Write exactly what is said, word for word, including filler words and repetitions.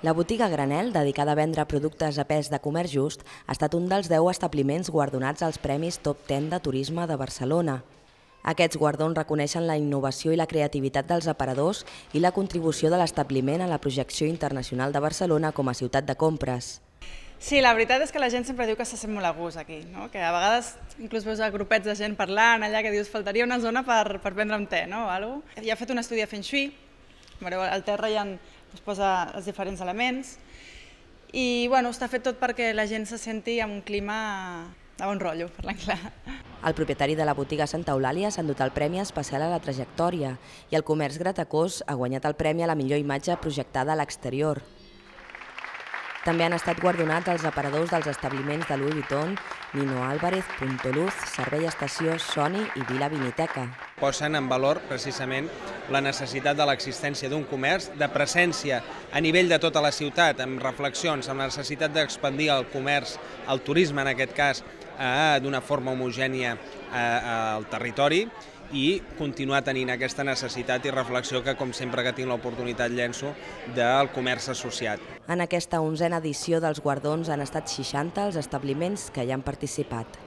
La botiga Granel, dedicada a vendre productes a pes de comerç just, ha estat un dels deu establiments guardonats als Premis Top deu de Turisme de Barcelona. Aquests guardons reconeixen la innovació i la creativitat dels aparadors i la contribució de l'establiment a la projecció internacional de Barcelona com a ciutat de compres. Sí, la veritat és que la gent sempre diu que se sent molt a gust aquí, no? Que a vegades inclús veus grupets de gent parlant allà que dius faltaria una zona per, per prendre un te, no? O alguna cosa. Ja he fet un estudi de Feng Shui, veureu, al terra ja es posa els diferents elements i bueno, està fet tot perquè la gent se senti en un clima de bon rotllo, parlant clar. El propietari de la botiga Santa Eulàlia s'ha endut el Premi Especial a la Trajectòria i el Comerç Gratacós ha guanyat el Premi a la millor imatge projectada a l'exterior. També han estat guardonats els aparadors dels establiments de Louis Vuitton, Nino Álvarez, Punto Luz, Servei Estació, Sony i Vila Viniteca. Posen en valor precisament la necessitat de l'existència d'un comerç, de presència a nivell de tota la ciutat, amb reflexions, amb la necessitat d'expandir el comerç, el turisme en aquest cas, d'una forma homogènia al territori, i continuar tenint aquesta necessitat i reflexió que, com sempre que tinc l'oportunitat, llenço del comerç associat. En aquesta onzena edició dels guardons han estat seixanta els establiments que hi han participat.